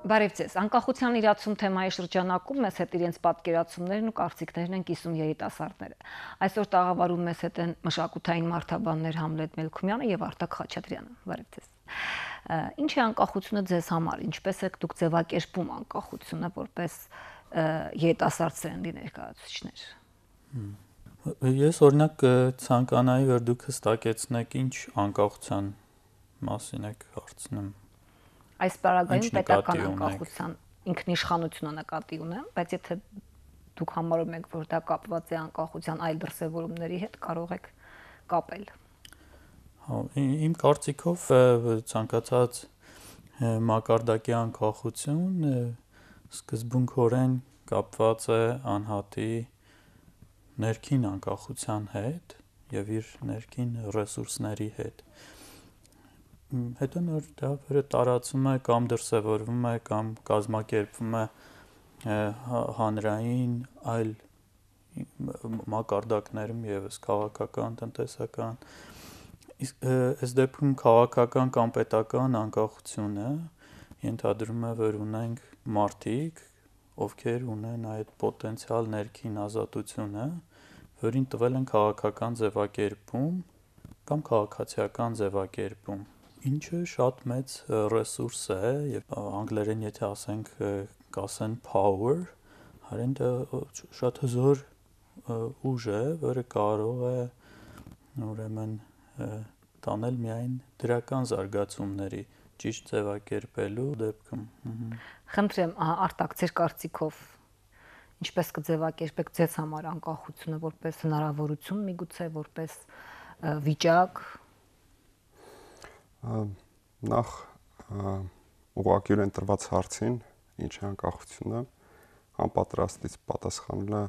Բարև ձեզ, անկախության իրացում թեմայի շրջանակում մեզ հետ իրենց պատկերացումներն ու կարծիքներն են կիսում երիտասարդները։ Այսօր տաղավարում մեզ հետ են մշակութային մարդաբաններ Համլետ Մելքումյանը եւ Արտակ Խաչատրյանը։ Բարև ձեզ։ Ինչ է անկախությունը ձեզ համար, ինչպես եք դուք ձևակերպում անկախությունը որպես երիտասարդ սերնդի ներկայացուցիչներ։ Ես օրինակ ցանկանայի, որ դուք հստակեցնեք ինչ անկախության մասին եք հարցնում։ Այս պարագայում պետական անկախության ինքնիշխանությունը նկատի ունեմ, բայց եթե դուք համարում եք, որ դա կապված է անկախության այլ դրսևորումների հետ, կարող եք կապել։ Իմ կարծիքով ցանկացած մակարդակի անկախություն սկզբունքորեն կապված է անհատի ներքին անկախության հետ եւ իր ներքին ռեսուրսների հետ։ Հետո նոր դա տարածում է կամ դրսևորվում է կամ կազմակերպվում է հանրային այլ մակարդակներում եւս քաղաքական, տնտեսական, այս դեպքում քաղաքական կամ պետական անկախությունը ենթադրում է, որ ունենք մարդիկ, ովքեր ունեն այդ պոտենցիալ ներքին ազատությունը, որին տվել են քաղաքական ձևակերպում կամ քաղաքացիական ձևակերպում, ինչը շատ մեծ ռեսուրս է եւ անգլերեն եթե ասենք կասեն power, հարեն դա շատ հզոր ուժ է, որը կարող է ուրեմն տանել միայն դրական զարգացումների ճիշտ ձևակերպելու դեպքում։ Խնդրեմ, Արտակ, ձեր կարծիքով ինչպես կձևակերպեք ձեզ համար անկախությունը որպես հնարավորություն, միգուցե որպես վիճակ։ Նախ ուղղակիորեն տրված հարցին, ինչ է անկախությունը, անպատրաստից պատասխանելը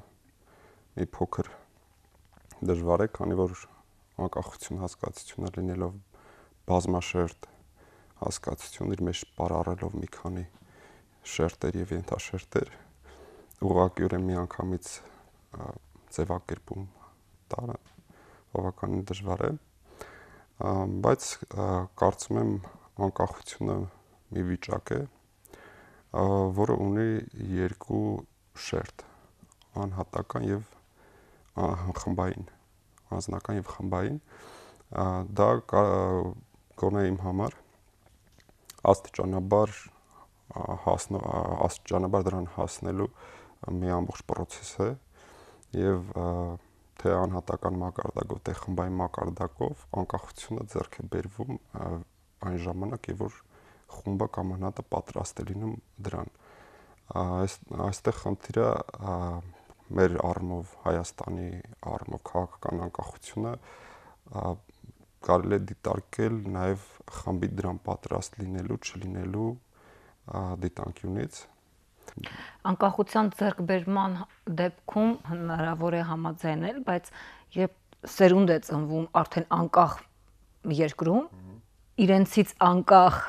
մի փոքր դժվար է, քանի որ անկախություն հասկացությունը լինելով բազմաշերտ հասկացություն, իր մեջ պարառելով մի քանի շերտեր եւ ենթաշերտեր, ուղղակիորեն միանգամից ձևակերպում տալը բավականին դժվար է, բայց կարծում եմ անկախությունը մի վիճակ է, որը ունի երկու շերտ, անհատական եւ խմբային, անձնական եւ խմբային, դա գոնե իմ համար աստիճանաբար դրան հասնելու մի ամբողջ process է եւ թե անհատական մակարդակով, թե խմբային մակարդակով անկախությունը ձեռք է բերվում այն ժամանակ, երբ որ խումբը կամ անհատը պատրաստ է լինում դրան։ Այստեղ խնդիրը մեր առումով Հայաստանի առումով քաղաքական անկախությունը կարելի է դիտարկել նաեւ խմբի դրան պատրաստ լինելու, չլինելու դիտանկյունից։ Անկախության ձեռքբերման դեպքում հնարավոր է համաձայնել, բայց երբ սերունդ է ծնվում արդեն անկախ երկրում, իրենցից անկախ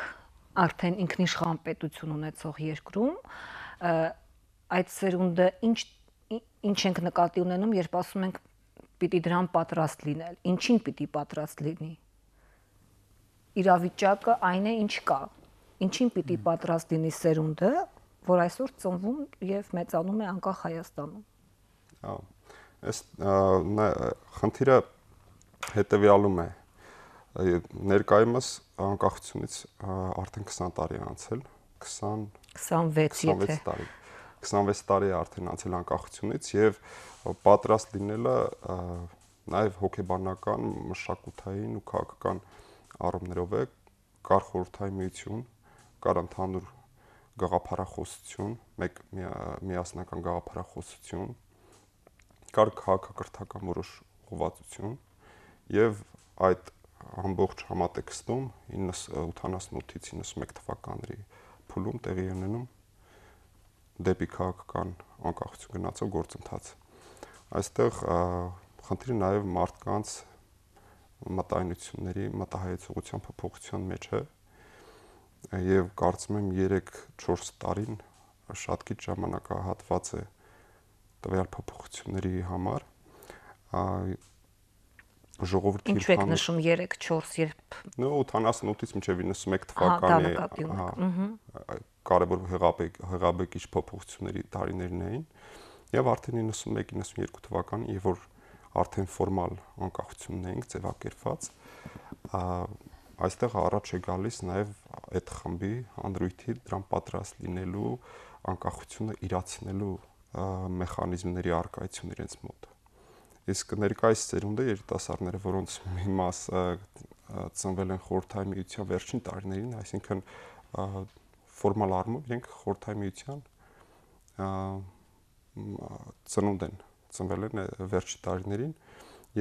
արդեն ինքնիշխան պետություն ունեցող երկրում, այդ սերունդը ինչ ենք նկատի ունենում, երբ ասում ենք պիտի դրան պատրաստ լինել, ինչին պիտի պատրաստ լինի։ Իրավիճակը այն է, ինչ կա, ինչին պիտի պատրաստ լինի սերունդը, որ այսօր ծնվում եւ մեծանում է անկախ Հայաստանում։ Այս խնդիրը հետեւյալում է։ Ներկայումս անկախությունից արդեն 20 տարի է անցել, 26 տարի։ 26 տարի է արդեն անցել անկախությունից եւ պատրաստ լինելը նաեւ հոգեբանական, մշակութային ու քաղաքական առումներով է, կար խորհրդային միություն, կար ընդհանուր գաղափարախոսություն, մեկ միասնական գաղափարախոսություն, կար քաղաքակրթական որոշ ուղղվածություն եւ այդ ամբողջ համատեքստում 88-ից 91 թվականների փուլում տեղի ունենում դեպի քաղաքական անկախություն գնացող գործընթաց։ Այստեղ խնդիրը նաեւ մարդկանց մտայնությունների, մտահայեցողության փոփոխության մեջ է եւ կարծում եմ 3-4 տարին շատ քիչ ժամանակահատված է տվյալ փոփոխությունների համար ժողովրդի Ինչու եք նշում 3-4 երբ 88-ից մինչև 91 թվականի կարևոր հեղաբեկիչ փոփոխությունների տարիներն էին եւ արդեն 91-92 թվականին, երբ որ արդեն ֆորմալ անկախությունն էինք ձևակերպված, այստեղ առաջ է գալիս նաեւ այդ խմբի հանրույթի դրան պատրաստ լինելու անկախությունը իրացնելու մեխանիզմների արկայություն իրենց մոտ։ Իսկ ներկայիս ծերունդը երիտասարդները, որոնց մի մասը ծնվել են Խորհրդային Միության վերջին տարիներին, այսինքն ֆորմալ առումով իրենք Խորհրդային Միության ծնունդ են, ծնվել են վերջի տարիներին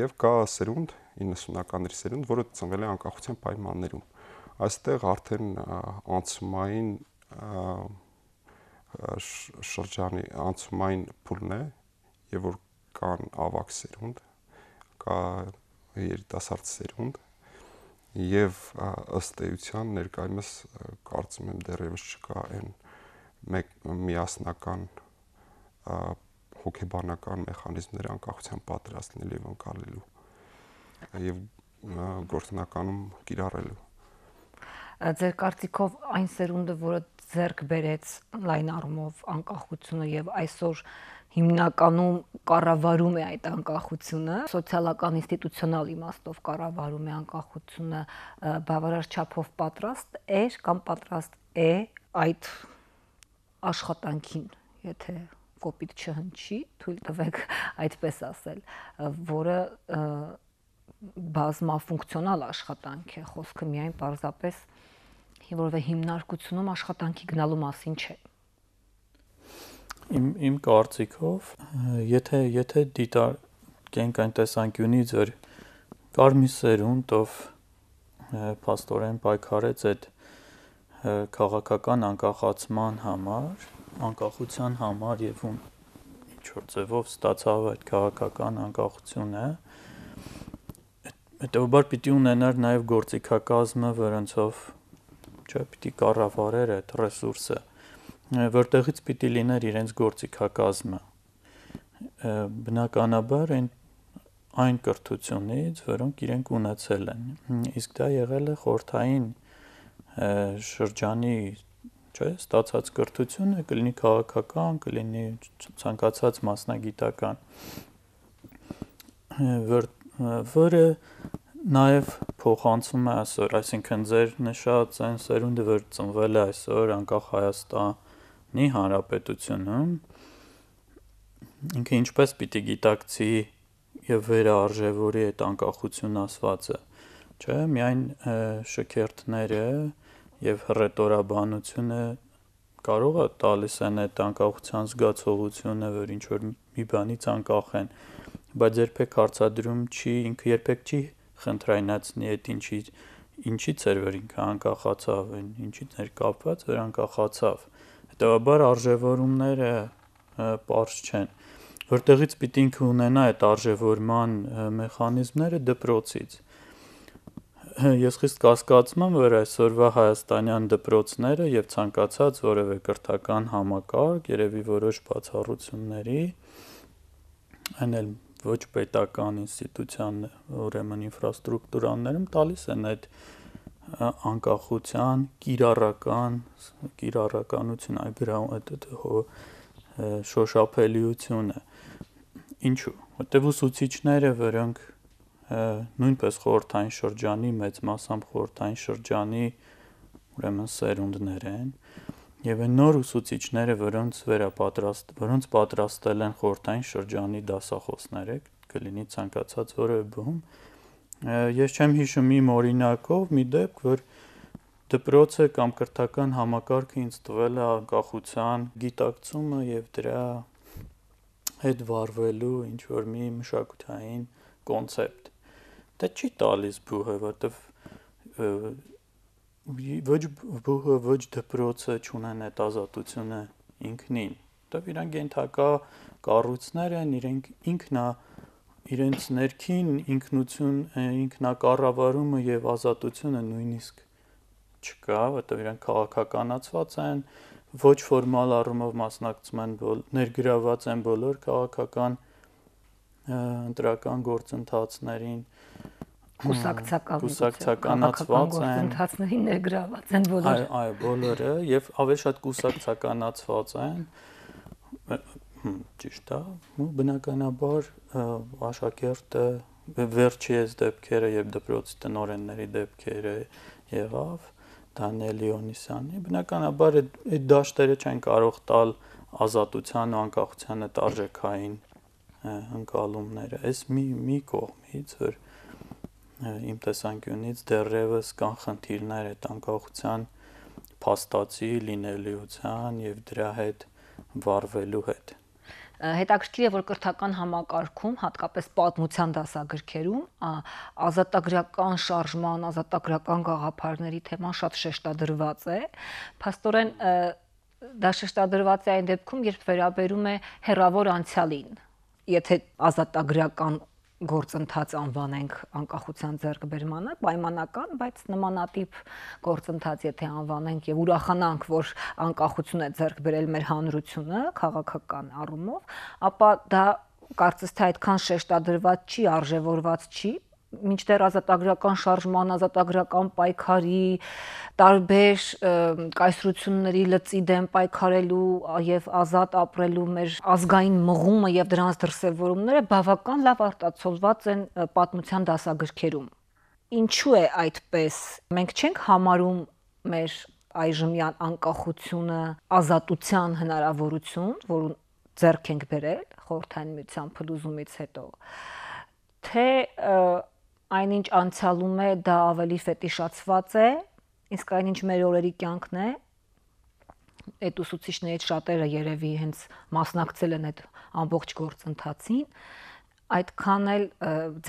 եւ կա սերունդ 90-ականների սերունդ, որը ծնվել է անկախության պայմաններում։ Այստեղ արդեն անցումային շրջանի անցումային փուլն է եւ որ կան ավակ սերունդ, կա երիտասարդ սերունդ եւ ըստ էության ներկայումս կարծում եմ դեռևս չկա այն միասնական հոգեբանական մեխանիզմներ անկախության պատրաստ լինելու եւ անցալելու եւ գործնականում կիրառելու։ Ձեր կարծիքով այն սերունդը, որը ձեռք բերեց լայն առումով անկախությունը եւ այսօր հիմնականում կառավարում է այդ անկախությունը, սոցիալական ինստիտուցիոնալ իմաստով կառավարում է անկախությունը, բավարար չափով պատրաստ է կամ պատրաստ է այդ աշխատանքին, եթե կոպիտ չհնչի, թույլ տվեք այդպես ասել, որը բազմաֆունկցիոնալ աշխատանք է, խոսքը միայն պարզապես որովհետեւ հիմնարկությունում աշխատանքի գնալու մասին չէ։ Իմ կարծիքով, եթե դիտարկենք այն տեսանկյունից, որ կար մի սերունդ, ով փաստորեն պայքարեց այդ քաղաքական անկախացման համար, անկախության համար եւ ում ինչ որ ձևով ստացավ այդ քաղաքական անկախությունը, հետեւաբար պիտի ունենար նաեւ գործիքակազմը, որոնցով պիտի կառավարեր այդ ռեսուրսը, որտեղից պիտի լիներ իրենց գործիքակազմը։ Բնականաբար այն կրթությունից, որոնք իրենք ունեցել են։ Իսկ դա եղել է խորհրդային շրջանի, ստացած կրթությունը, կլինի քաղաքական, կլինի ցանկացած մասնագիտական, որը նաև փոխանցում է այսօր, այսինքն ձեր նշած այն սերունդը, որ ծնվել է այսօր անկախ Հայաստանի Հանրապետությունում, ինքը ինչպես պիտի գիտակցի եւ վերարժևորի այդ անկախություն ասվածը, չէ՞, միայն շքերթները եւ հռետորաբանությունը կարող է տալիս են այդ անկախության զգացողությունը, որ ինչ որ մի բանից անկախ են, բայց երբեք հարցադրում չի, ինքը երբեք չի խնդրայնացնի այդ ինչից էր, որ ինքը անկախացավ, ինչից էր կապված, որ անկախացավ։ Հետևաբար արժևորումները պարզ չեն, որտեղից պիտի ինքը ունենա այդ արժևորման մեխանիզմները դպրոցից։ Ես խիստ կասկածում եմ, որ այսօրվա հայաստանյան դպրոցները եւ ցանկացած որևէ կրթական համակարգ, երևի որոշ բացառությունների, այն էլ ոչ պետական ինստիտուցիան, ուրեմն ինֆրաստրուկտուրաներում տալիս են այդ անկախության կիրառականություն, այդ շոշափելիությունը։ Ինչու՞։ Որտեղ ուսուցիչները, որոնք նույնպես խորհրդային շրջանի, մեծ մասամբ խորհրդային շրջանի ուրեմն սերունդներ են, եւ այն նոր ուսուցիչները, որոնց պատրաստել են խորհրդային շրջանի դասախոսները, կլինի ցանկացած որևէ բում, ես չեմ հիշում իմ օրինակով մի դեպք, որ դպրոցը կամ կրթական համակարգը ինձ տվել է անկախության գիտակցումը եւ դրա հետ վարվելու ինչ որ մի մշակութային կոնցեպտ։ Դա չի տալիս բուհը, որտեվ ոչ բուհը, ոչ դպրոցը չունեն այդ ազատությունը ինքնին։ Որտեվ իրանք ենթակա կառույցներ են, իրենց ներքին ինքնություն, ինքնակառավարումը եւ ազատությունը նույնիսկ չկա, որտեվ իրանք քաղաքականացված են, ոչ ֆորմալ առումով մասնակցում են, ներգրաված են բոլոր քաղաքական ընտրական գործընթացներին, կուսակցականացված են, գործընթացների ներգրաված են բոլորը։ Այո, բոլորը եւ ավելի շատ կուսակցականացված են։ Ճիշտ է, բնականաբար աշակերտը վերջի այս դեպքերը եւ դպրոցի տնօրենների դեպքերը եղավ Դանիել Լեոնիսյանի, բնականաբար այդ դաշտերը չեն կարող տալ ազատության ու անկախության տարժեքային ընկալումները։ Այս մի կողմից, որ իմ տեսանկյունից դեռևս կան խնդիրներ այդ անկախության փաստացի լինելիության եւ դրա հետ վարվելու հետ։ Հետաքրքիր է, որ կրթական համակարգում, հատկապես պատմության դասագրքերում, ազատագրական շարժման, ազատագրական գաղափարների թեման շատ շեշտադրված է։ Փաստորեն դա շեշտադրված է այն դեպքում, երբ վերաբերում է հեռավոր անցյալին։ Եթե ազատագրական գործընթաց անվանենք անկախության ձեռքբերմանը, պայմանական, բայց նմանատիպ գործընթաց եթե անվանենք եւ ուրախանանք, որ անկախություն է ձեռք բերել մեր հանրությունը քաղաքական առումով, ապա դա կարծես թե այդքան շեշտադրված չի, արժևորված չի, մինչդեռ ազատագրական շարժման, ազատագրական պայքարի, տարբեր կայսրությունների լծի դեմ պայքարելու եւ ազատ ապրելու մեր ազգային մղումը եւ դրանց դրսեւորումները բավական լավ արտացոլված են պատմության դասագրքերում։ Ինչու է այդպես։ Մենք չենք համարում մեր այժմյան անկախությունը ազատության հնարավորություն, որը ձեռք ենք բերել խորհրդային միության փլուզումից հետո, թե այնինչ անցյալում է դա ավելի ֆետիշացված է, իսկ այնինչ մեր օրերի կյանքն է։ Այդ ուսուցիչներից շատերը երևի հենց մասնակցել են այդ ամբողջ գործընթացին, այդքան էլ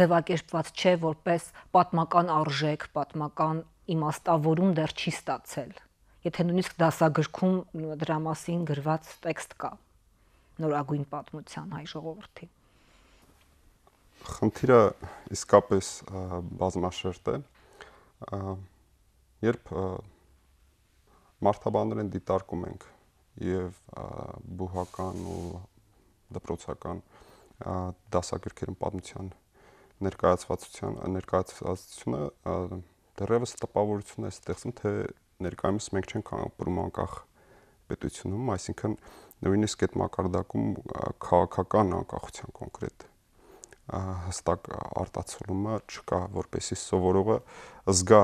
ձևակերպված չէ որպես պատմական արժեք, պատմական իմաստավորում դեռ չի ստացել։ Եթե նույնիսկ դասագրքում դրա մասին գրված տեքստ կա նորագույն պատմության հայ ժողովրդի։ Խնդիրը իսկապես բազմաշերտ է, երբ մարդաբանորեն դիտարկում ենք եւ բուհական ու դպրոցական դասագրքերում պատմության ներկայացվածությունը դեռևս տպավորություն է ստեղծում, թե ներկայումս մենք չենք ապրում անկախ պետությունում, այսինքն նույնիսկ այդ մակարդակում քաղաքական անկախության կոնկրետ հստակ արտացոլումը չկա, որպեսզի սովորողը զգա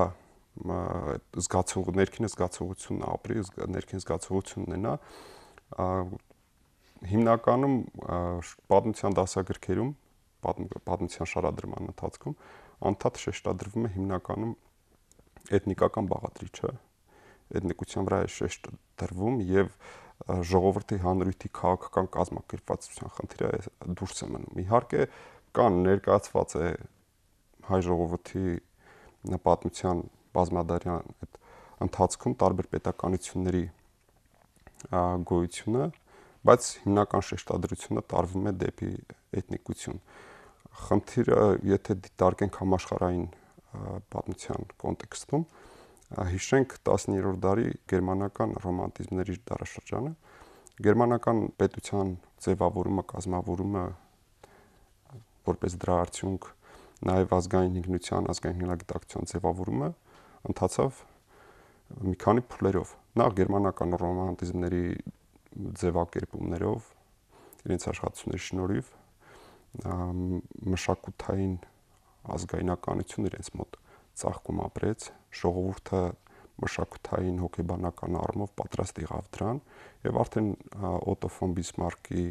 ներքին զգացողությունն ապրի, ներքին զգացողություն ունենա։ Հիմնականում պատմության դասագրքերում, պատմության շարադրման ընթացքում անդադար շեշտադրվում է հիմնականում էթնիկական բաղադրիչը, էթնիկության վրա է շեշտ դրվում եւ ժողովրդի հանրույթի քաղաքական կազմակերպվածության խնդիրը դուրս է մնում։ Իհարկե կան ներկայացված է հայ ժողովրդի պատմության բազմադարյան այդ ընթացքում տարբեր պետականությունների գոյությունը, բայց հիմնական շեշտադրությունը տարվում է դեպի էթնիկություն։ Խնդիրը, եթե դիտարկենք համաշխարհային պատմության կոնտեքստում, հիշենք 19-րդ դարի գերմանական ռոմանտիզմների դարաշրջանը, գերմանական պետության ձևավորումը, կազմավորումը որպես դրա արդյունք նաև ազգային ինքնության, ազգային հնագիտակցության ձևավորումը ընթացավ մի քանի փուլերով։ Նախ գերմանական ռոմանտիզմների ձևակերպումներով, իրենց աշխատությունների շնորհիվ մշակութային ազգայնականություն իրենց մոտ ծաղկում ապրեց, ժողովուրդը մշակութային հոգեբանական առումով պատրաստ եղավ դրան եւ արդեն Օտո ֆոն Բիսմարկի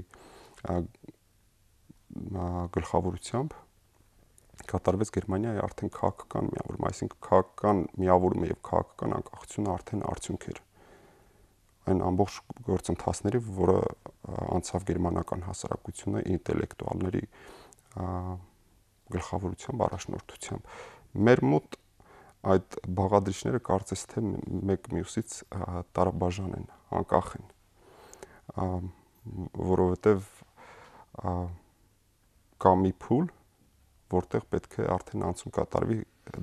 գլխավորությամբ կատարվեց Գերմանիայի արդեն քաղաքական միավորում, այսինքն քաղաքական միավորումը եւ քաղաքական անկախությունը արդեն արդյունք էր այն ամբողջ գործընթացների, որը անցավ գերմանական հասարակությունը ինտելեկտուալների գլխավորությամբ, առաջնորդությամբ։ Մեր մոտ այդ բաղադրիչները կարծես թե մեկ մյուսից տարաբաժան են, անկախ են, որովհետև կա մի փուլ, որտեղ պետք է արդեն անցում կատարվի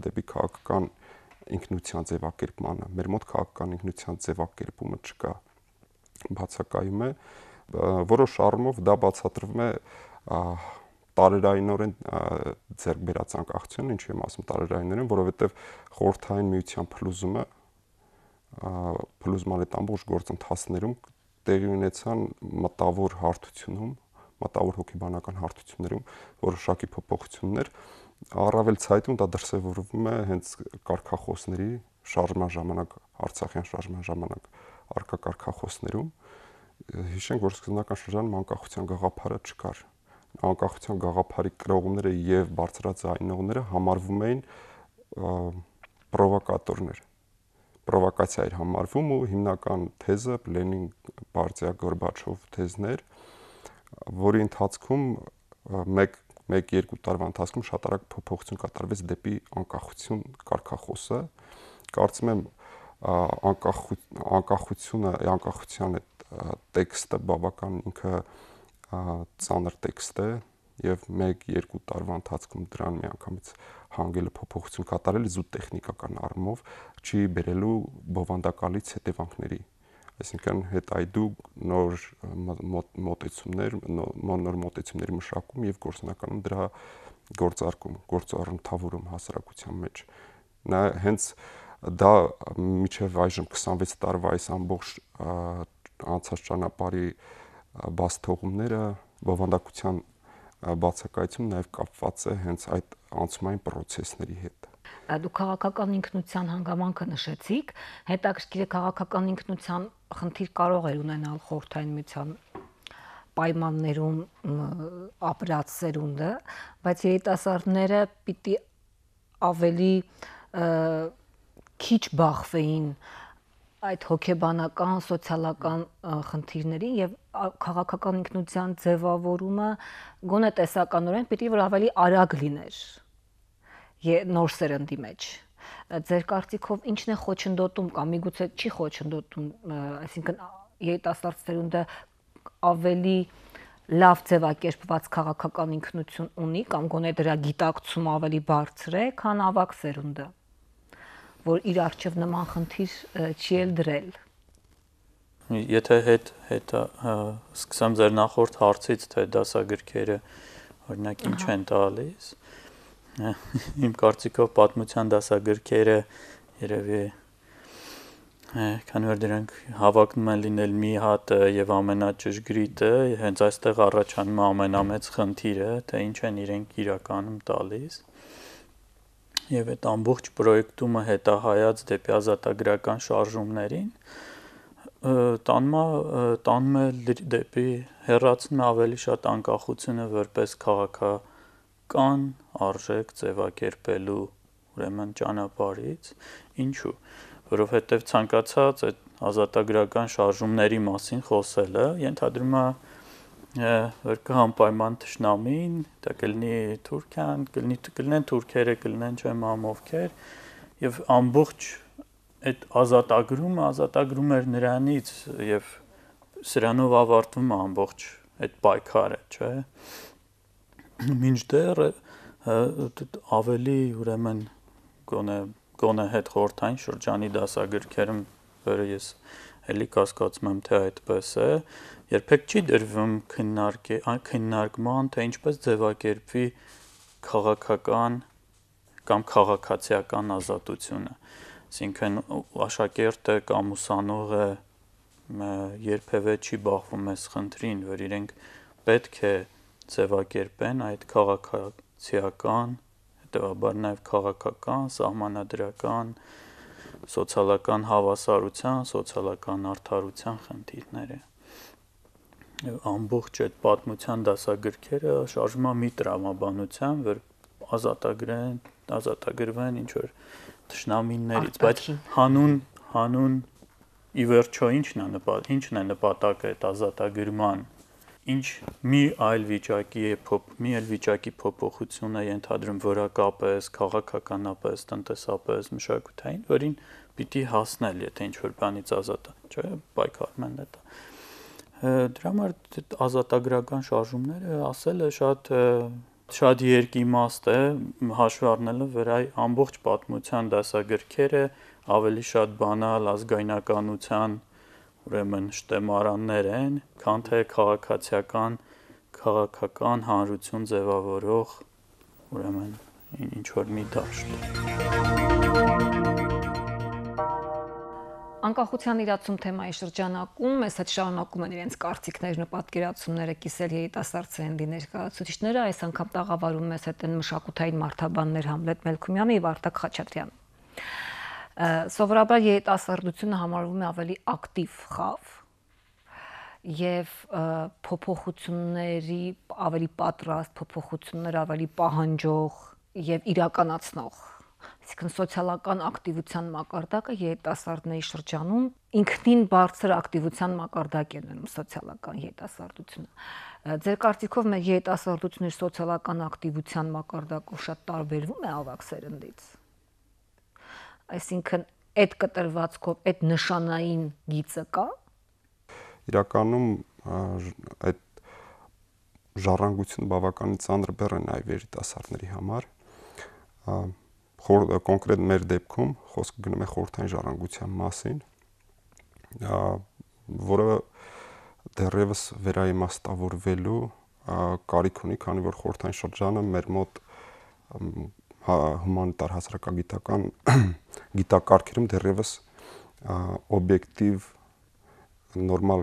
դեպի քաղաքական ինքնության ձևակերպմանը։ Մեր մոտ քաղաքական ինքնության ձևակերպումը չկա, բացակայում է, որոշ առումով դա բացատրվում է տարերայինորեն ձեռք բերած անկախություն, ինչի եմ ասում տարերայինորեն, որովհետև խորհրդային միության փլուզման այդ ամբողջ գործընթացներում տեղի ունեցան մտավոր հարթությունում, մտավոր հոգեբանական հարթություններում որոշակի փոփոխություններ, առավել ցայտուն դա դրսևորվում է հենց կարգախոսների շարժման ժամանակ, Արցախյան շարժման ժամանակ արկա կարգախոսներում։ Հիշենք, որ սկզբնական շրջանում անկախության գաղափարը չկար։ Անկախության գաղափարի կրողները եւ բարձրաձայնողները համարվում էին պրովոկատորներ։ Պրովոկացիա էր համարվում ու հիմնական թեզը Լենին, Բարտիա, Գորբաչով թեզներ, որի ընթացքում 1-2 տարվա ընթացքում շատ արագ փոփոխություն կատարվեց դեպի անկախություն կարգախոսը։ Կարծում եմ անկախության այդ տեքստը բավական ինքը ծանր տեքստ է եւ 1-2 տարվա ընթացքում դրան միանգամից հանգելը փոփոխություն կատարել զուտ տեխնիկական առումով չի բերելու բովանդակալից հետևանքների։ Այսինքն հետայդու նոր մոտեցումների մշակում եւ գործնականում դրա գործառնթավորում հասարակության մեջ։ Նա հենց դա միջև այժմ 26 տարվա այս ամբողջ անցած ճանապարհի բաց թողումները բովանդակության բացակայություն նաև կապված է հենց այդ անցումային պրոցեսների հետ։ Դու քաղաքական ինքնության հանգամանքը նշեցիք, հետաքրքիր է քաղաքական ինքնության խնդիր կարող էր ունենալ խորհրդային միության պայմաններում ապրած սերունդը, բայց երիտասարդները պիտի ավելի քիչ բախվեին այդ հոգեբանական, սոցիալական խնդիրներին եւ քաղաքական ինքնության ձևավորումը գոնե տեսականորեն պիտի որ ավելի արագ լիներ նոր սերնդի մեջ։ Ձեր կարծիքով ինչն է խոչընդոտում կամ միգուցե չի խոչընդոտում, այսինքն երիտասարդ սերունդը ավելի լավ ձևակերպված քաղաքական ինքնություն ունի կամ գոնե դրա գիտակցումը ավելի բարձր է, քան ավագ սերունդը, որ իր առջև նման խնդիր չի էլ դրել։ Եթե հետ սկսեմ ձեր նախորդ հարցից, թե դասագրքերը օրինակ ինչ են տալիս, իմ կարծիքով պատմության դասագրքերը երևի քանի որ դրանք հավակնում են լինել մի հատը եւ ամենաճշգրիտը, հենց այստեղ առաջանում է ամենամեծ խնդիրը, թե ինչ են իրենք իրականում տալիս։ Եվ այդ ամբողջ պրոյեկտումը հետահայաց դեպի ազատագրական շարժումներին տանում է դեպի հեռացնում ավելի շատ անկախությունը որպես քաղաքական արժեք ձևակերպելու ուրեմն ճանապարհից, ինչու, որովհետև ցանկացած այդ ազատագրական շարժումների մասին խոսելը ենթադրում է որ կհանպայման թշնամին, դա կլինի Թուրքիան, կլինեն թուրքերը, կլինեն չեմ ովքեր, եւ ամբողջ այդ ազատագրում էր նրանից եւ սրանով ավարտվում է ամբողջ այդ պայքարը, չէ՞։ Մինչդեռ ավելի ուրեմն գոնե հետ խորհրդային շրջանի դասագրքերում, որը ես էլի կասկածում եմ, թե այդպես է, երբեք չի դրվում քննարկման, թե ինչպես ձևակերպվի քաղաքական կամ քաղաքացիական ազատությունը։ Այսինքն աշակերտը կամ ուսանողը երբևէ չի բախվում այս խնդրին, որ իրենք պետք է ձևակերպեն այդ քաղաքացիական, հետևաբար նաև քաղաքական, սահմանադրական, սոցիալական հավասարության, սոցիալական արդարության խնդիրները։ Ամբողջ այդ պատմության դասագրքերը շարժվում է մի տրամաբանության, որ ազատագրվեն ինչ որ թշնամիներից, բայց հանուն ի վերջո ինչն է նպատակը այդ ազատագրման, ինչ մի այլ վիճակի փոփոխություն է ենթադրում որակապես, քաղաքականապես, տնտեսապես, մշակութային, որին պիտի հասնել, եթե ինչ որ բանից ազատ, չէ՞, պայքարում են դա։ Դրա համար ազատագրական շարժումները ասելը շատ երկիմաստ է, հաշվի առնելով որ այ ամբողջ պատմության դասագրքերը ավելի շատ բանալ ազգայնականության ուրեմն շտեմարաններ են, քան թե քաղաքացիական քաղաքական հանրություն ձևավորող ուրեմն ինչ որ մի դաշտ։ Անկախության իրացում թեմայի շրջանակում մեզ հետ շարունակում են իրենց կարծիքներն ու պատկերացումները կիսել երիտասարդ սերնդի ներկայացուցիչները, այս անգամ տաղավարում մեզ հետ են մշակութային մարդաբաններ Համլետ Մելքումյանը եւ Արտակ Խաչատրյանը։ Սովորաբար երիտասարդությունը համարվում է ավելի ակտիվ խավ եւ փոփոխությունների ավելի պատրաստ, փոփոխություններ ավելի պահանջող եւ իրականացնող, այսինքն սոցիալական ակտիվության մակարդակը երիտասարդների շրջանում ինքնին բարձր ակտիվության մակարդակ է ունենում սոցիալական երիտասարդությունը։ Ձեր կարծիքով մեր երիտասարդությունը սոցիալական ակտիվության մակարդակով շատ տարբերվում է ավագ սերնդից։ Այսինքն այդ կտրվածքով այդ նշանային գիծը կա։ Իրականում այդ ժառանգությունը բավականին ծանր բեռ է նաև երիտասարդների համար։ Կոնկրետ մեր դեպքում խոսքը գնում է խորհրդային ժառանգության մասին, որը դեռևս վերաիմաստավորվելու կարիք ունի, քանի որ խորհրդային շրջանը մեր մոտ հումանիտար հասարակագիտական գիտակարգերում դեռևս օբյեկտիվ նորմալ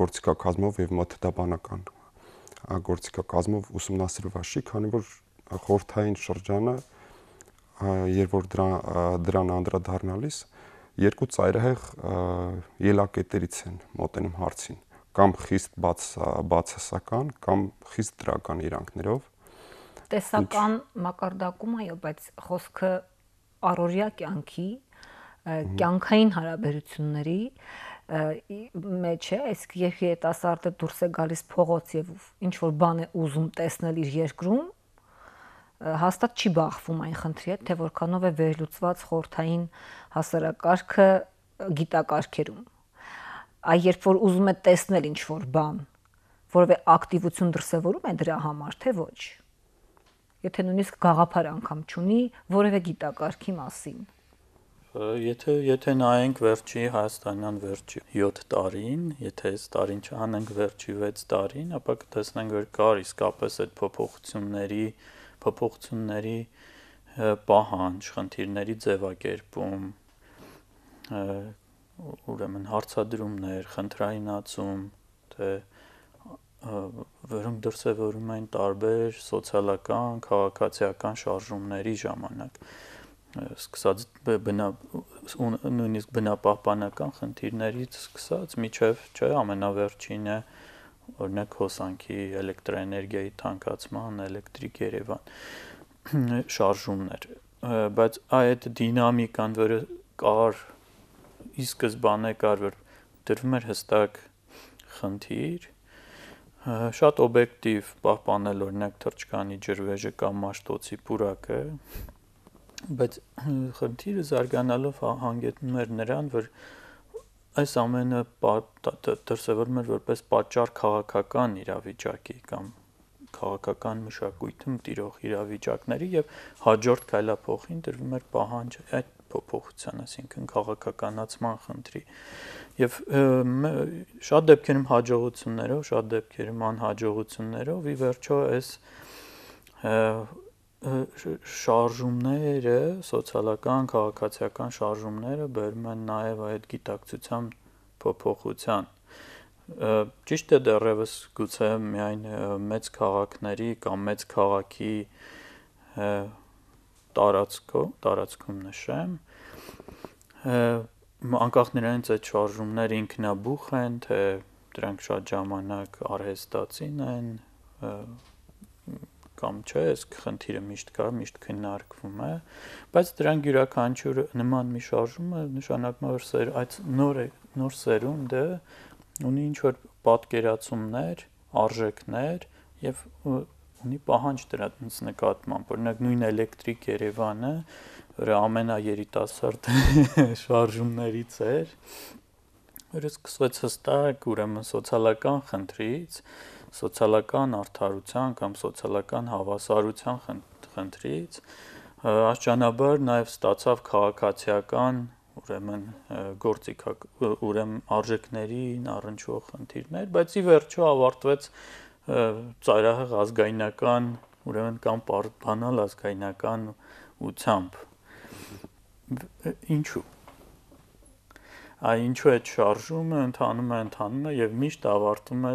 գործիքակազմով եւ մոթեդաբանական գործիքակազմով ուսումնասիրված չի, քանի որ խորհրդային շրջանը երբ որ դրան անդրադառնալիս երկու ծայրահեղ ելակետերից են մոտենում հարցին, կամ խիստ բացասական, կամ խիստ դրական իրանքներով։ Տեսական մակարդակում այո, բայց խոսքը առօրյա կյանքի, կյանքային հարաբերությունների մեջ է, իսկ երբ երիտասարդը դուրս է գալիս փողոց եւ ինչ որ բան է ուզում տեսնել իր երկրում, հաստատ չի բախվում այն խնդրի հետ, թե որքանով է վերլուծված խորհրդային հասարակարգը գիտակարգերում։ Այ երբ որ ուզում է տեսնել ինչ որ բան, որովե ակտիվություն դրսևորում է դրա համար, թե ոչ։ Եթե նույնիսկ գաղափար անգամ չունի որևէ գիտակարգի մասին։ Եթե նայենք վերջի հայաստանյան վերջի 7 տարին, եթե այս տարին չանենք վերջի 6 տարին, ապա կտեսնենք, որ կար իսկապես այդ փոփոխությունների պահանջ, խնդիրների ձևակերպում, ուրեմն հարցադրումներ, խնդրայնացում, թե որոնք դրսևորում են տարբեր սոցիալական, քաղաքացիական շարժումների ժամանակ, սկսած նույնիսկ բնապահպանական խնդիրներից սկսած միջև չէ ամենավերջինը օրինակ հոսանքի էլեկտրոէներգիայի թանկացման, էլեկտրիկ Երևան շարժումներ, բայց այդ դինամիկան, որը կար ի սկզբանե կար, որ դրվում էր հստակ խնդիր, շատ օբյեկտիվ պահպանել օրինակ թրջկանի ջրվեժը կամ Մաշտոցի պուրակը, բայց խնդիրը զարգանալով հանգեցնում էր նրան, որ այս ամենը դրսևորում էր որպես պատճառ քաղաքական իրավիճակի կամ քաղաքական մշակույթում տիրող իրավիճակների եւ հաջորդ քայլափոխին դրվում էր պահանջ այդ փոփոխության, այսինքն քաղաքականացման խնդրի եւ շատ դեպքերում հաջողություններով, շատ դեպքերում անհաջողություններով ի վերջո այս շարժումները, սոցիալական, քաղաքացիական շարժումները բերում են նաեւ այդ գիտակցության փոփոխության։ Ճիշտ է դեռևս գուցե միայն մեծ քաղաքների կամ մեծ քաղաքի տարածքում նշեմ, անկախ նրանից այդ շարժումները ինքնաբուխ են, թե դրանք շատ ժամանակ արհեստացին են, կամ չէ, այս խնդիրը միշտ կա, միշտ քննարկվում է, բայց դրանք յուրաքանչյուր նման մի շարժումը նշանակում է, որ այդ նոր սերունդը ունի ինչ-որ պատկերացումներ, արժեքներ եւ ունի պահանջ դրանց նկատմամբ, օրինակ նույն էլեկտրիկ Երևանը, որը ամենաերիտասարդ շարժումներից էր, որը սկսվեց հստակ ուրեմն սոցիալական խնդրից, սոցիալական արդարության կամ սոցիալական հավասարության խնդրից, աստիճանաբար նաև ստացավ քաղաքացիական ուրեմն արժեքներին առնչվող խնդիրներ, բայց ի վերջո ավարտվեց ծայրահեղ ազգայնական, ուրեմն կամ բանալ ազգայնական ուությամբ։ Ինչու՞։ Ինչու այդ շարժումը ընթանում է եւ միշտ ավարտում է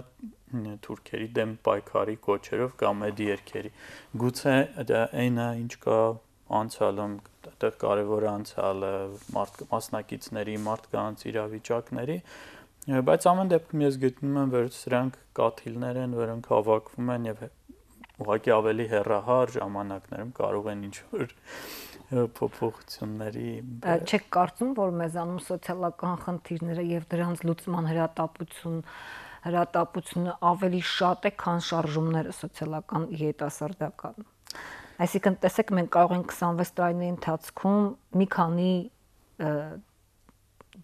թուրքերի դեմ պայքարի կոչերով կամ այդ երկերի։ Գուցե դա այնա ինչ կա անցյալում, այդտեղ կարևոր անցյալը, մասնակիցների, մարդկանց իրավիճակների, բայց ամեն դեպքում ես գտնում եմ, որ սրանք կաթիլներ են, որոնք հավաքվում են եւ ուղղակի ավելի հեռահար ժամանակներում կարող են ինչ-որ փոփոխությունների։ Չեք կարծում, որ մեզանում սոցիալական խնդիրները եւ դրանց լուծման հրատապությունը ավելի շատ է, քան շարժումները սոցիալական երիտասարդական։ Այսինքն, տեսեք, մենք կարող ենք 26 տարիների ընթացքում մի քանի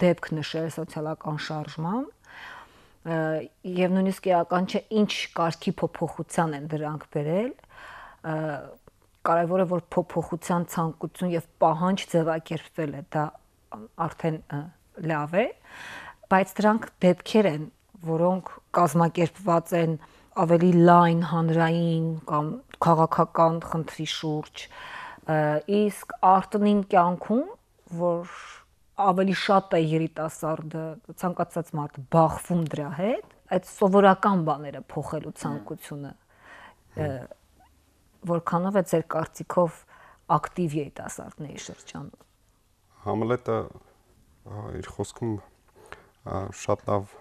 դեպք նշել սոցիալական շարժման եւ նույնիսկ էական չէ ինչ կարգի փոփոխության են դրանք բերել, կարևորը որ փոփոխության ցանկություն եւ պահանջ ձևակերպվել է, դա արդեն լավ է, բայց դրանք դեպքեր են, որոնք կազմակերպված են ավելի լայն հանրային կամ քաղաքական խնդրի շուրջ, իսկ արտոնին կյանքում, որ ավելի շատ է երիտասարդը, ցանկացած մարդ բախվում դրա հետ, այդ սովորական բաները փոխելու ցանկությունը որքանով է ձեր կարծիքով ակտիվ երիտասարդների շրջանում։ Համլետը իր խոսքում շատ լավ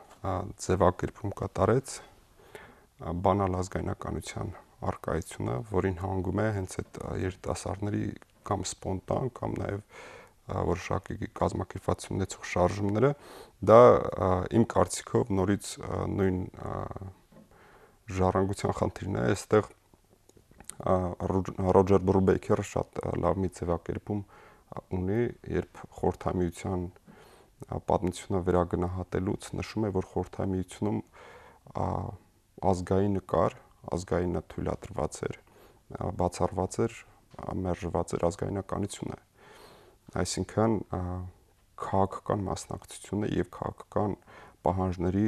ձևակերպում կատարեց բանալ ազգայնականության արկայությունը, որին հանգում է հենց այդ երիտասարդների կամ սպոնտան կամ նաև որոշակի կազմակերպված ունեցող շարժումները, դա իմ կարծիքով նորից նույն ժառանգության խնդիրն է, այստեղ Ռոջեր Բրուբեյքերը շատ լավ մի ձևակերպում ունի, երբ խորհրդամիության պատմությունը վերագնահատելուց նշում է, որ խորհրդամիությունում ազգային նկար, ազգայինը թույլատրված էր, բացառված էր, մերժված էր ազգայնականությունը։ Այսինքն քաղաքական մասնակցությունը եւ քաղաքական պահանջների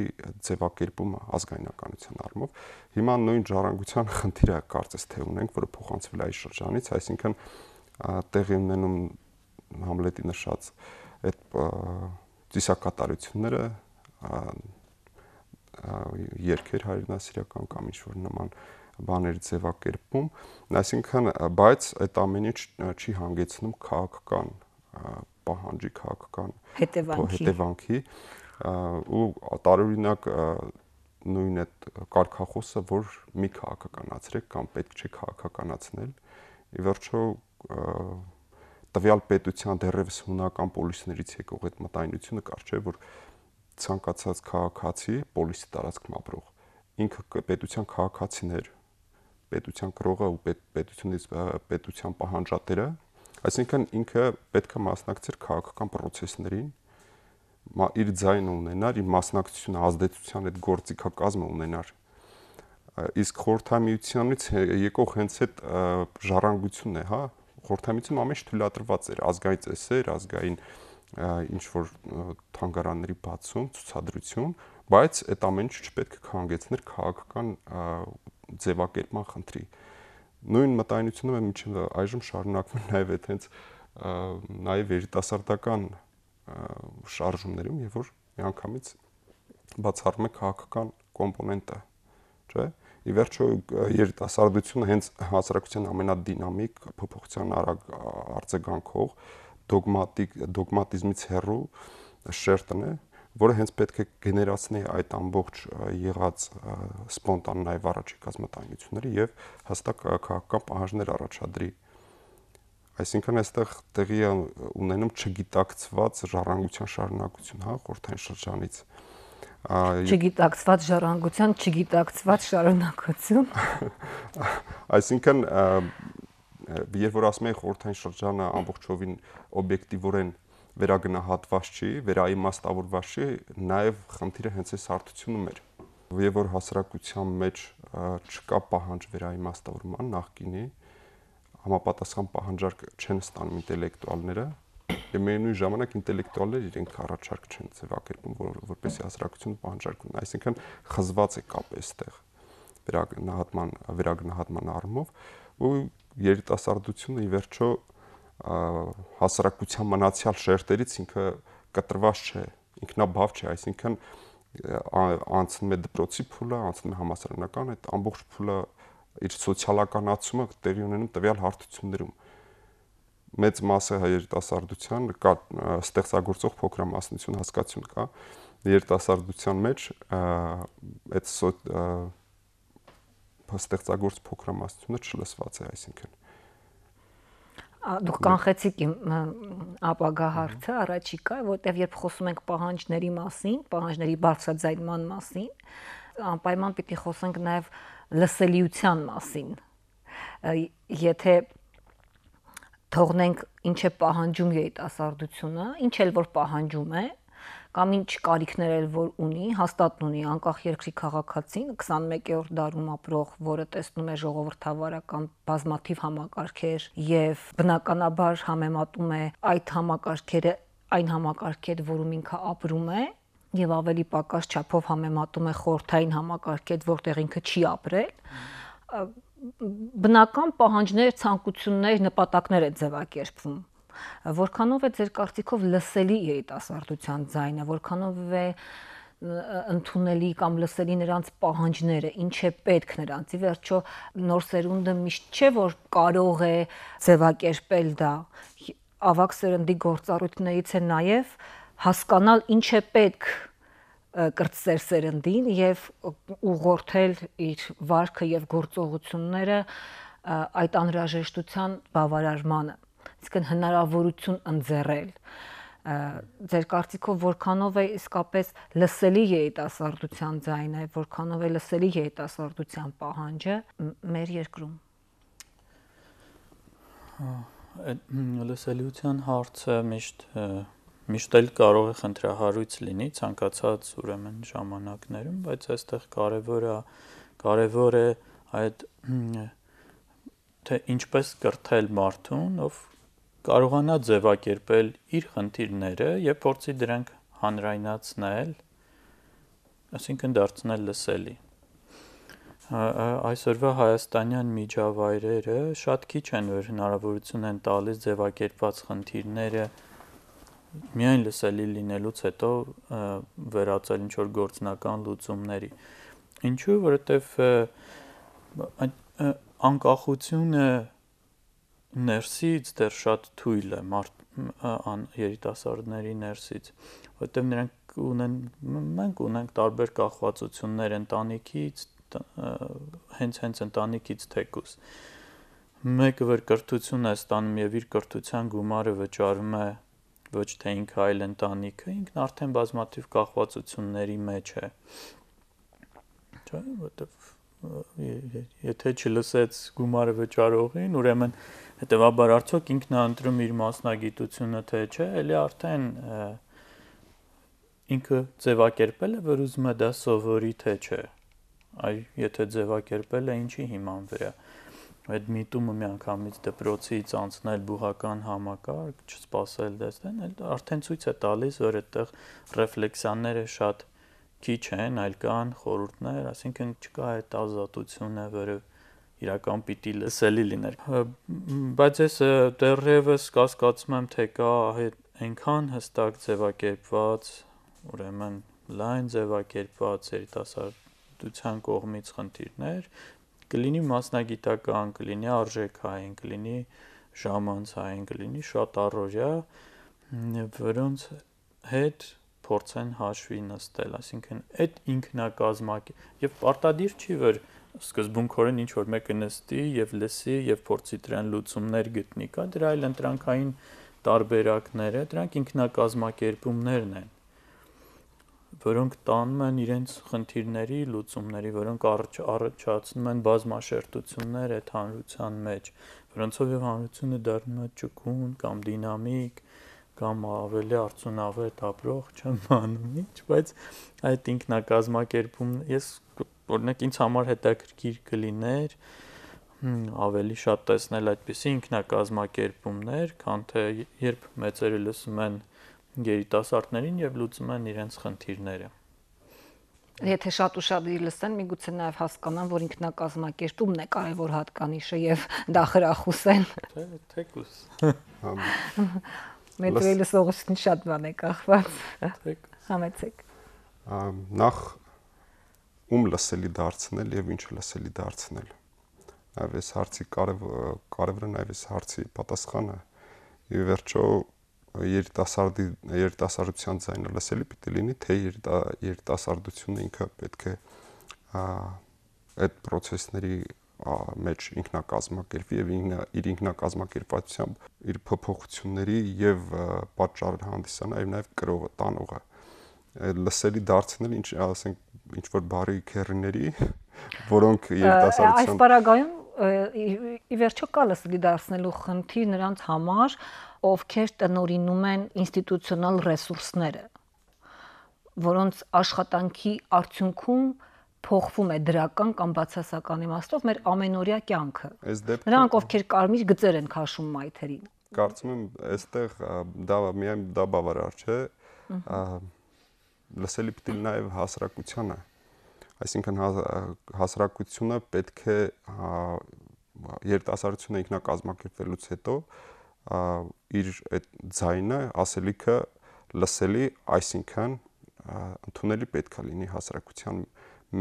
ձևակերպումը ազգայնականության առումով։ Հիմա նույն ժառանգության խնդիրը կարծես թե ունենք, որը փոխանցվել է այս շրջանից, այսինքն տեղի ունենում Համլետի նշած այդ ծիսակատարությունները, երգեր հայրենասիրական կամ ինչ-որ նման բաների ձևակերպում, այսինքն բայց այդ ամեն ինչ չի հանգեցնում քաղաքական պահանջի, քաղաքական հետևանքի ու տարօրինակ նույն այդ կարգախոսը, որ մի քաղաքականացրեք կամ պետք չէ քաղաքականացնել, ի վերջո տվյալ պետության դեռևս հունական պոլիսներից եկող այդ մտայնությունը կար չէ, որ ցանկացած քաղաքացի, պոլիսի տարածքում ապրող, ինքը պետության քաղաքացին էր, պետության կրողը ու պետության պահանջատերը, այսինքն ինքը պետք է մասնակցեր քաղաքական process-ներին, իր ձայնը ունենար, իր մասնակցությունը ազդեցության այդ գործիքակազմը ունենար։ Իսկ խորհրդամիությունից եկող հենց այդ ժառանգությունն է, հա, խորհրդամիությունում ամեն ինչ թույլատրված էր, ազգային ծեսեր, ազգային ինչ որ թանգարանների բացում, ցուցադրություն, բայց այդ ամեն ինչը չպետք է կհանգեցներ քաղաքական ձևակերպման խնդրի։ Նույն մտայնությունը մինչև այժմ շարունակվում է նաև այդ հենց նաև երիտասարդական շարժումներում, երբ որ միանգամից բացառում է քաղաքական կոմպոնենտը, չէ՞։ Ի վերջո երիտասարդությունը հենց հասարակության ամենադինամիկ փոփոխության արագ արձագանքող դոգմատիզմից հեռու շերտն է, որը հենց պետք է գեներացնի այդ ամբողջ եղած սպոնտան նաև առաջիկած մտայնությունները եւ հստակ քաղաքական պահանջներ առաջադրի։ Այսինքն այստեղ տեղի է ունենում չգիտակցված ժառանգության շարունակություն, հա, խորհրդային շրջանից։ Չգիտակցված ժառանգության, չգիտակցված շարունակություն։ Այսինքն երբ որ ասում են խորհրդային շրջանը ամբողջովին օբյեկտիվորեն վերագնահատված չի, վերաիմաստավորված չի, նաև խնդիրը հենց այս հարթությունում էր։ Եվ որ հասարակության մեջ չկա պահանջ վերաիմաստավորման նախկինի, համապատասխան պահանջարկ չեն ստանում ինտելեկտուալները, եւ միևնույն ժամանակ ինտելեկտուալները իրենք առաջարկ չեն ձևակերպում, որպեսզի հասարակությունը պահանջարկ ունենա, այսինքն խզված է կապը այստեղ։ վերագնահատման առումով ու երիտասարդությունը ի վերջո հասարակության մնացյալ շերտերից ինքը կտրված չէ, ինքնաբավ չէ, այսինքն անցնում է դպրոցի փուլը, անցնում է համալսարանական, այդ ամբողջ փուլը իր սոցիալականացումը տեղի ունենում տվյալ հարթություններում։ Մեծ մասը երիտասարդության կա ստեղծագործող փոքրամասնություն հասկացություն կա երիտասարդության մեջ այդ ստեղծագործ փոքրամասնությունը չլսված է, այսինքն Դուք կանխեցիք իմ ապագա հարցը առաջիկա, որտեղ երբ խոսում ենք պահանջների մասին, պահանջների բարձրաձայնման մասին, անպայման պիտի խոսենք նաև լսելիության մասին։ Եթե թողնենք ինչ է պահանջում երիտասարդությունը, ինչ էլ որ պահանջում է, կամ ինչ կարիքներ էլ որ ունի, հաստատ ունի անկախ երկրի քաղաքացին 21-րդ դարում ապրող, որը տեսնում է ժողովրդավարական բազմաթիվ համակարգեր եւ բնականաբար համեմատում է այդ համակարգերը այն համակարգի հետ, որում ինքը ապրում է եւ ավելի պակաս չափով համեմատում է խորհրդային համակարգի հետ, որտեղ ինքը չի ապրել, բնական պահանջներ, ցանկություններ, նպատակներ է ձևակերպվում։ Որքանով է ձեր կարծիքով լսելի երիտասարդության ձայնը, որքանով է ընդունելի կամ լսելի նրանց պահանջները, ինչ է պետք նրանց։ Ի վերջո նոր սերունդը միշտ չէ որ կարող է ձևակերպել դա։ Ավագ սերնդի գործառույթներից է նաև հասկանալ ինչ է պետք կրտսեր սերնդին եւ ուղղորդել իր վարքը եւ գործողությունները այդ անհրաժեշտության բավարարմանը, այսինքն հնարավորություն ընձեռել։ Ձեր կարծիքով որքանով է իսկապես լսելի երիտասարդության ձայնը, որքանով է լսելի երիտասարդության պահանջը մեր երկրում։ Լսելիության հարցը միշտ էլ կարող է խնդրահարույց լինի ցանկացած ուրեմն ժամանակներում, բայց այստեղ կարևոր է այդ թե ինչպես կրթել մարդուն, ով կարողանա ձևակերպել իր խնդիրները եւ փորձի դրանք հանրայնացնել, այսինքն դարձնել լսելի։ Այսօրվա հայաստանյան միջավայրերը շատ քիչ են, որ հնարավորություն են տալիս ձևակերպված խնդիրները միայն լսելի լինելուց հետո վերածել ինչ-որ գործնական լուծումների։ Ինչու՞, որովհետև անկախությունը ներսից դեռ շատ թույլ է երիտասարդների ներսից, որովհետև մենք ունենք տարբեր կախվածություններ ընտանիքից, հենց ընտանիքից թեկուզ։ Մեկը որ կրթություն է ստանում եւ իր կրթության գումարը վճարում է ոչ թե ինքը, այլ ընտանիքը, ինքն արդեն բազմաթիվ կախվածությունների մեջ է։ Չէ՞, որովհետև եթե չլսեց գումարը վճարողին, ուրեմն հետեւաբար արդյոք ինքն է ընտրում իր մասնագիտությունը, թե չէ, ելի արդեն ինքը ձևակերպել է, որ ուզում է դա սովորի, թե չէ։ Այ եթե ձևակերպել է, ինչի հիման վրա։ Այդ միտումը միանգամից դպրոցից անցնել բուհական համակարգ, չսպասել դեսնեն, արդեն ցույց է տալիս, որ այդտեղ ռեֆլեքսիաները շատ քիչ են, այլ կան խորհուրդներ, այսինքն չկա այդ ազատությունը, որը իրական պիտի լսելի լիներ։ Բայց ես դեռևս կասկածում եմ, թե կա այնքան հստակ ձևակերպված, ուրեմն լայն ձևակերպված երիտասարդության կողմից խնդիրներ, կլինի մասնագիտական, կլինի արժեքային, կլինի ժամանցային, կլինի շատ առօրյա, որոնց հետ փորձեն հաշվի նստել, այսինքն այդ ինքնակազմակերպ եւ պարտադիր չի, որ սկզբունքորեն ինչ որ մեկը նստի եւ լսի եւ փորձի դրան լուծումներ գտնի, կա դրա այլ ընտրանքային տարբերակները, դրանք ինքնակազմակերպումներն են, որոնք տանում են իրենց խնդիրների լուծումների, որոնք առաջացնում են բազմաշերտություններ այդ հանրության մեջ, որոնցով եւ հանրությունը դառնում է ճկուն կամ դինամիկ կամ ավելի արդյունավետ ապրող, չեմ անում ինչ, բայց այդ ինքնակազմակերպում ես օրինակ ինձ համար հետաքրքիր կլիներ ավելի շատ տեսնել այդպիսի ինքնակազմակերպումներ, քան թե երբ մեծերը լսում են երիտասարդներին եւ լուծում են իրենց խնդիրները։ Եթե շատ ուշադիր լսեն, միգուցե նաև հասկանան, որ ինքնակազմակերպումն է կարևոր հատկանիշը եւ դա խրախուսեն։ Թեկուս։ Մետրոյի լսողությունից շատ բան է կախված։ Համեցեք։ Նախ ում լսելի դարձնել եւ ինչը լսելի դարձնել։ Նաեւ այս հարցի կարևորը նաեւ այս հարցի պատասխանը։ Եվ վերջո երիտասարդության ձայնը լսելի պիտի լինի, թե երիտասարդությունը ինքը պետք է այդ process-ների մեջ ինքնակազմակերպվի եւ իր ինքնակազմակերպվածությամբ իր փոփոխությունների եւ պատճառ հանդիսանա եւ նաեւ կրողը, տանողը լսելի դարձնել ինչ որ բարի քերիների, որոնք երիտասարդության այս պարագայում ի վերջո կա լսելի դարձնելու խնդիր նրանց համար, ովքեր տնօրինում են ինստիտուցիոնալ ռեսուրսները, որոնց աշխատանքի արդյունքում փոխվում է դրական կամ բացասական իմաստով մեր ամենօրյա կյանքը։ Նրանք ովքեր կարմիր գծեր են քաշում մայթերին։ Կարծում եմ, այստեղ դա բավարար չէ։ Լսելի պիտի նաև հասարակությանը, այսինքն հասարակությունը պետք է երիտասարդությունը ինքնակազմակերպվելուց հետո իր այդ ձայնը, ասելիքը լսելի, այսինքն ընդունելի պետք է լինի հասարակության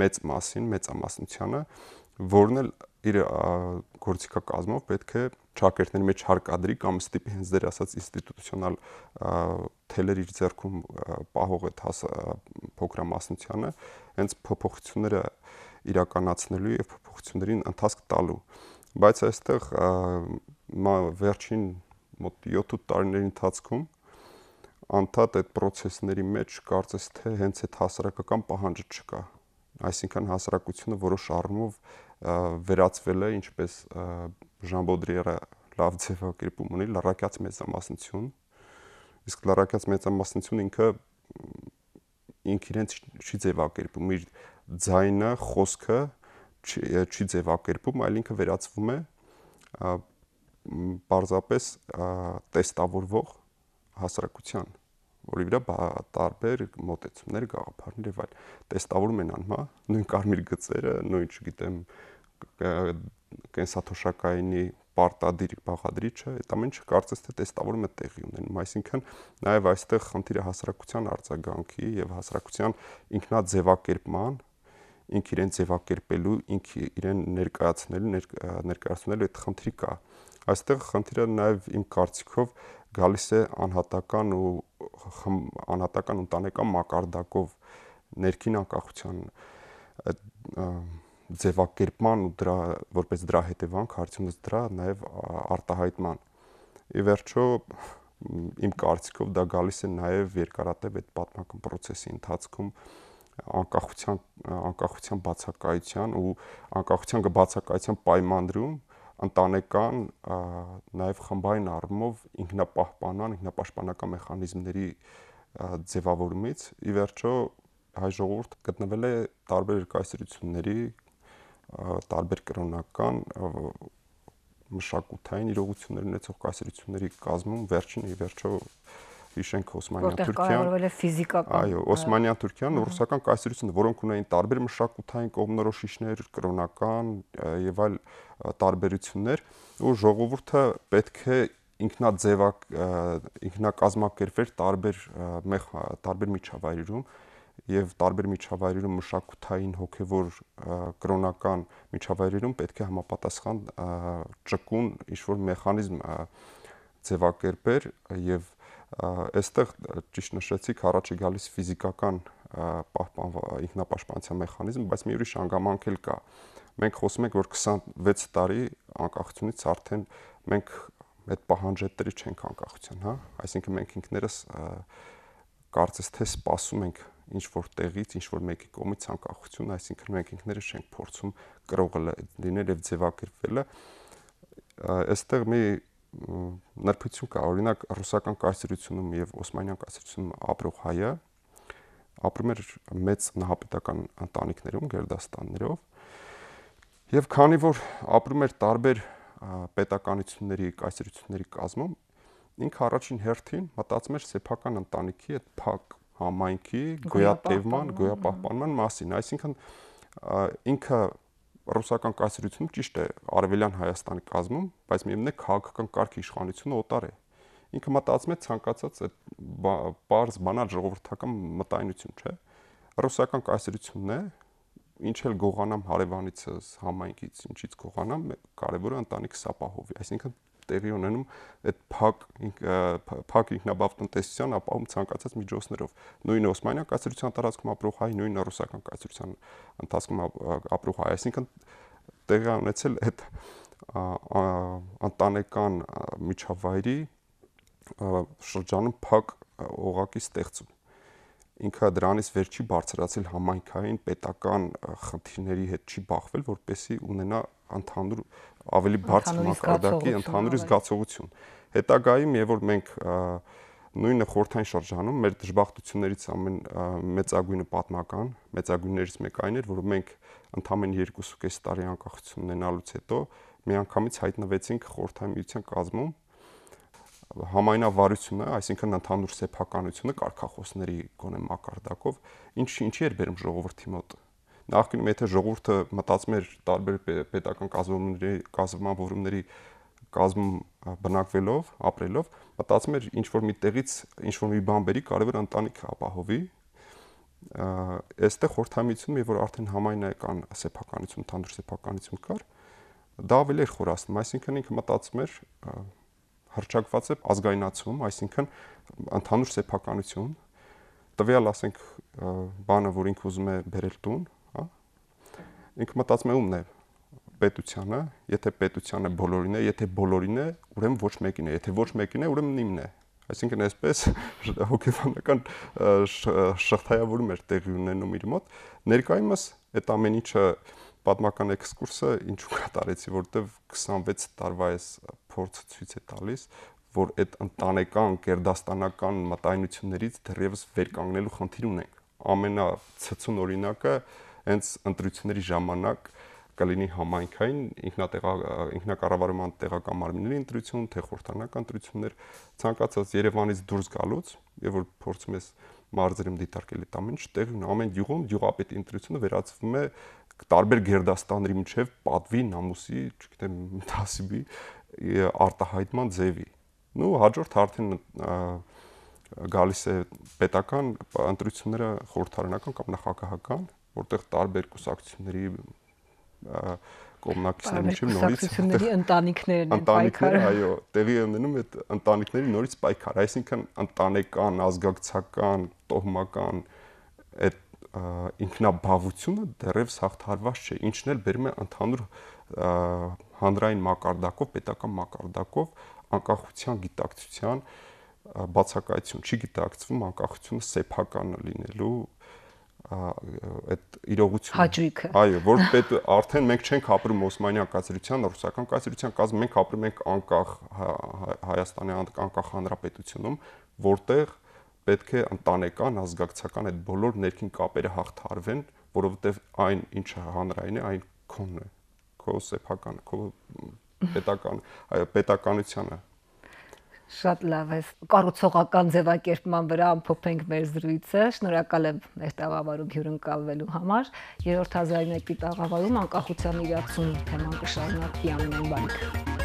մեծ մասին, մեծամասնությանը, որն էլ իր գործիքակազմով պետք է ճակերտների մեջ հարկադրի կամ ստիպի հենց դեր ասած ինստիտուցիոնալ թելեր իր ձեռքում պահող այդ փոքրամասնությանը հենց փոփոխությունները իրականացնելու եւ փոփոխություններին ընթացք տալու։ Բայց այստեղ վերջին մոտ 7-8 տարիների ընթացքում անդադ այդ process-ների մեջ կարծես թե հենց այդ հասարակական պահանջը չկա։ Այսինքն հասարակությունը որոշ առումով վերածվել է, ինչպես Ժան Բոդրիերը լավ ձևակերպում ունի, լարակյաց մեծամասնություն։ Իսկ լարակյաց մեծամասնությունը ինքը իրենց չի ձևակերպում, իր ձայնը, խոսքը չի ձևակերպում, այլ ինքը վերածվում է պարզապես տեստավորվող հասարակության, որի վրա տարբեր մոտեցումներ, գաղափարներ եւ այլ տեստավորում են անում, նույն կարմիր գծերը, նույն, չգիտեմ, կենսաթոշակայինի պարտադիր բաղադրիչը, այդ ամենը կարծես թե տեստավորումը տեղի ունենում, այսինքն նաեւ այստեղ խնդիրը հասարակության արձագանքի եւ հասարակության ինքնաձևակերպման, ինք իրեն ձևակերպելու, ինք իրեն ներկայացնելու այդ խնդրի կա։ Այստեղ խնդիրը նաեւ իմ կարծիքով գալիս է անհատական ընտանեկան մակարդակով ներքին անկախության ձևակերպման ու դրա որպես դրա հետևանք հարցումից դրա նաեւ արտահայտման։ Ի վերջո իմ կարծիքով դա գալիս է նաեւ երկարատև այդ պատմական process-ի ընթացքում անկախության բացակայության ու անկախության բացակայության պայմաններում ընտանեկան նաև խմբային առումով ինքնապաշտպանական մեխանիզմների ձևավորումից ի վերջո հայ ժողովուրդը գտնվել է տարբեր կայսրությունների, տարբեր կրոնական մշակութային իրողություններ ունեցող կայսրությունների կազմում վերջինը ի վերջո հիշենք Օսմանյան Թուրքիան, այո, Օսմանյան Թուրքիան, ռուսական կայսրությունը, որոնք ունեին տարբեր մշակութային կողմնորոշիչներ, կրոնական եւ այլ տարբերություններ, ու ժողովուրդը պետք է ինքնակազմակերպվեր տարբեր միջավայրերում եւ տարբեր միջավայրերում մշակութային, հոգեվոր, կրոնական միջավայրերում պետք է համապատասխան ճկուն ինչ-որ մեխանիզմ ձևակերպեր եւ այստեղ ճիշտ նշեցիք առաջ է գալիս ֆիզիկական ինքնապաշտպանության մեխանիզմ, բայց մի ուրիշ հանգամանք էլ կա։ Մենք խոսում ենք, որ 26 տարի անկախությունից արդեն մենք այդ պահանջատերի չենք անկախության, հա, այսինքն մենք ինքներս կարծես թե սպասում ենք ինչ որ տեղից, ինչ որ մեկի կողմից անկախություն, այսինքն մենք ինքներս չենք փորձում կրողը լինել եւ ձևակերպվել։ Այստեղ մի նրբություն կա, օրինակ ռուսական կայսրությունում եւ Օսմանյան կայսրությունում ապրող հայը ապրում էր մեծ նահապետական ընտանիքներում, գերդաստաններով, եւ քանի որ ապրում էր տարբեր պետականությունների, կայսրությունների կազմում, ինքը առաջին հերթին մտածում էր սեփական ընտանիքի այդ փակ համայնքի գոյատևման, գոյապահպանման մասին, այսինքն ինքը ռուսական կայսրությունում ճիշտ է Արևելյան Հայաստանի կազմում, բայց միևնույն է քաղաքական կարգ իշխանությունը օտար է։ Ինքը մտածում է ցանկացած այդ բարձ բանալ ժողովրդական մտայնություն, չէ։ Ռուսական կայսրությունն է, ինչ էլ գողանամ հարևանիցս, համայնքից, ինչից գողանամ, կարևորը ընտանիքս ապահովի, այսինքն տեղի ունենում այդ փակ ինքնաբավ տնտեսության ապահովում ցանկացած միջոցներով։ Նույն Օսմանյան կայսրության տարածքում ապրող հայ, նույն ռուսական կայսրության ընթացքում ապրող հայ, այսինքն տեղի ունեցել այդ ընտանեկան միջավայրի շրջանում փակ օղակի ստեղծում։ Ինքը դրանից վեր չի բարձրացել համայնքային պետական խնդիրների հետ չի բախվել, որպեսզի ունենա ընդհանուր ավելի բարձր մակարդակի ընդհանուր զգացողություն։ Հետագայում, երբ որ մենք նույնը խորհրդային շրջանում մեր դժբախտություններից ամեն մեծագույնը պատմական, մեծագույններից մեկը այն էր, որ մենք ընդամենը 2.5 տարի անկախություն ունենալուց հետո միանգամից հայտնվեցինք խորհրդային միության կազմում համայնավարությունը, այսինքն ընդհանուր սեփականությունը կարգախոսների գոնե մակարդակով, ինչի էր բերում ժողովրդի մոտ։ Նախկինում եթե ժողովուրդը մտածում էր տարբեր պետական կազմավորումների կազմում բնակվելով, ապրելով, մտածում էր ինչ որ մի տեղից ինչ որ մի բան բերի, կարևոր ընտանիքը ապահովի։ Այստեղ խորհրդամիությունում երբ որ արդեն համայնական սեփականություն, ընդհանուր սեփականություն կար, դա ավելի էր խորացնում, այսինքն ինքը մտածում էր հռչակված է ազգայնացում, այսինքն ընդհանուր սեփականություն, տվյալ ասենք բանը, որ ինքը ուզում է բերել տուն, հա, ինքը մտածում է ումն է պետությանը, եթե պետությանը բոլորին է, եթե բոլորին է, ուրեմն ոչ մեկին է, եթե ոչ մեկին է, ուրեմն իմն է։ Այսինքն այսպես հոգեբանական շղթայավորում էր տեղի ունենում իր մոտ։ Ներկայումս այդ ամեն ինչը պատմական էքսկուրսը ինչու կատարեցի, որտեվ 26 տարվա այս փորձը ցույց է տալիս, որ այդ ընտանեկան գերդաստանական մտայնություններից դեռևս վեր կանգնելու խնդիր ունենք։ Ամենացցուն օրինակը հենց ընտրությունների ժամանակ կլինի համայնքային ինքնակառավարման տեղական մարմինների ընտրություն, թե խորհրդարանական ընտրություններ, ցանկացած Երևանից դուրս գալուց, եւ որ փորձում ես մարզերում դիտարկել այդ ամեն ինչ, տեղի ունի ամեն գյուղում գյուղապետի ընտրությունը վերածվում է տարբեր գերդաստանների միջև պատվի, նամուսի, չգիտեմ, դասիբի արտահայտման ձևի։ Նու հաջորդ արդեն գալիս է պետական ընտրությունները խորհրդարանական կամ նախագահական, որտեղ տարբեր կուսակցությունների կողմնակիցների միջև նորից ընտանիքներն են պայքարը, այո, տեղի է ունենում այդ ընտանիքների նորից պայքար, այսինքն ընտանեկան, ազգակցական, տոհմական այդ ինքնաբավությունը դեռևս հաղթահարված չէ, ինչն էլ բերում է ընդհանուր հանրային մակարդակով, պետական մակարդակով անկախության գիտակցության բացակայություն, չի գիտակցվում անկախությունը սեփական լինելու այդ իրողությունը։ Հաճույքը։ Այո, որ արդեն մենք չենք ապրում Օսմանյան կայսրության, ռուսական կայսրության կազմում, մենք ապրում ենք անկախ Հայաստանի անկախ հանրապետությունում, որտեղ պետք է ընտանեկան, ազգակցական այդ բոլոր ներքին կապերը հաղթահարվեն, որովհետև այն ինչը հանրային է, այն քոնն է, քո սեփական, քո պետական, այո, պետականությունը։ Շատ լավ է։ Կառուցողական ձևակերպման վրա ամփոփենք մեր զրույցը։ Շնորհակալ եմ մեր տաղավարում հյուրընկալվելու համար։ Երրորդ հազարամյակի տաղավարում անկախության իրացում թեման կշարունակվի ամեն բան։